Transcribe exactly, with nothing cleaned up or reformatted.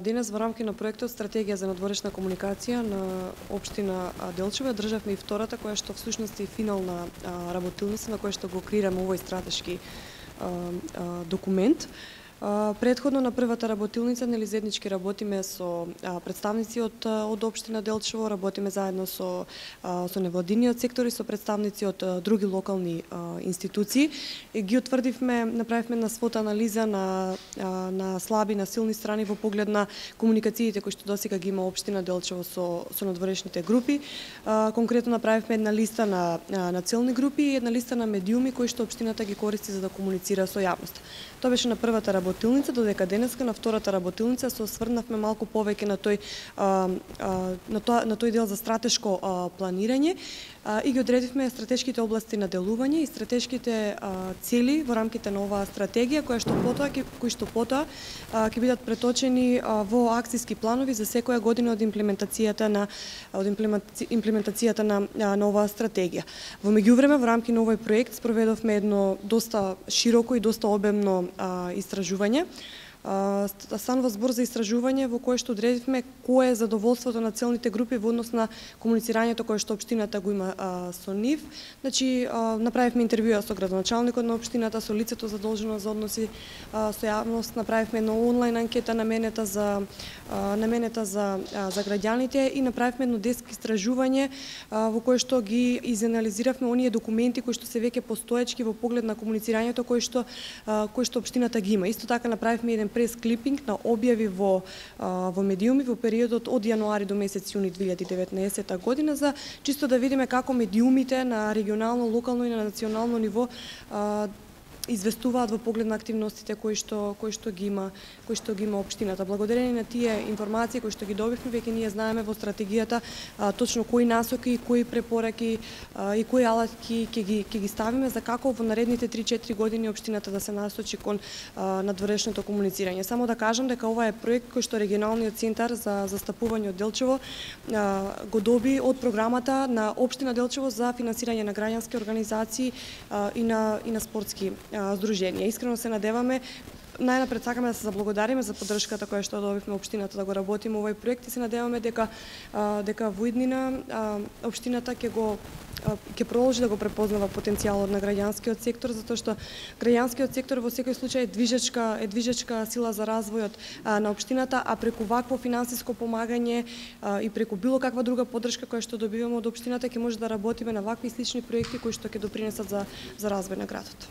Денес во рамки на проектот Стратегија за надворешна комуникација на општина Делчево државме и втората, која што всушност е финална работилница на која што го креираме овој стратешки документ. Претходно на првата работилница нели заеднички работиме со представници од од општина Делчево, работиме заедно со со невладиниот сектор и со представници од други локални институции. И ги утврдивме, направивме една свота анализа на на слаби, на силни страни во поглед на комуникациите кои што досега ги има општина Делчево со со надворешните групи. Конкретно направивме една листа на на целни групи и една листа на медиуми кои што општината ги користи за да комуницира со јавноста. Тоа беше на првата работилница, додека денеска на втората работилница се осврнавме малку повеќе на тој на тоа на тој дел за стратешко планирање и ги одредивме стратешките области на делување и стратешките цели во рамките на оваа стратегија, која што потоа кои што потоа ќе бидат преточени во акциски планови за секоја година од имплементацијата на од имплементацијата на на оваа стратегија. Во меѓувреме во рамки на овој проект спроведовме едно доста широко и доста обемно истражување. Станува збор за истражување во кое што одредивме кое е задоволството на целните групи во однос на комуницирањето кое што општината го има а, со нив. Значи, а, направивме интервјуа со градоначалникот на општината, со лицето задолжено за односи а, со јавност, направивме една онлайн анкета наменета за а, наменета за а, за граѓаните и направивме едно деск истражување а, во кое што ги изанализиравме оние документи кои што се веќе постоечки во поглед на комуницирањето кои што а, кои што општината ги има. Исто така направивме еден прес-клипинг на објави во во медиуми во периодот од јануари до месец јуни две илјади и деветнаесетта година за чисто да видиме како медиумите на регионално, локално и на национално ниво известуваат во поглед на активностите кои што кои што ги има кои што ги има општината. Благодарение на тие информации кои што ги добивме, веќе ние знаеме во стратегијата а, точно кои насоки, кои препораки а, и кои алатки ќе ги ќе ги ставиме за како во наредните три-четири години општината да се насочи кон а, надворешното комуницирање. Само да кажам дека ова е проект кој што регионалниот центар за застапување од Делчево а, го доби од програмата на општина Делчево за финансирање на граѓански организации а, и на и на спортски здруженија. Искрено се надеваме, најнапред сакаме да се заблагодариме за поддршката која што добивме општината да го работиме овој проект и се надеваме дека дека во иднина општината ќе го ќе продолжи да го препознава потенцијалот на граѓанскиот сектор, затоа што граѓанскиот сектор во секој случај е движечка е движечка сила за развојот на општината, а преку вакво финансиско помагање и преку било каква друга поддршка која што добиваме од општината ќе може да работиме на вакви слични проекти кои што ќе допринесат за за развој на градот.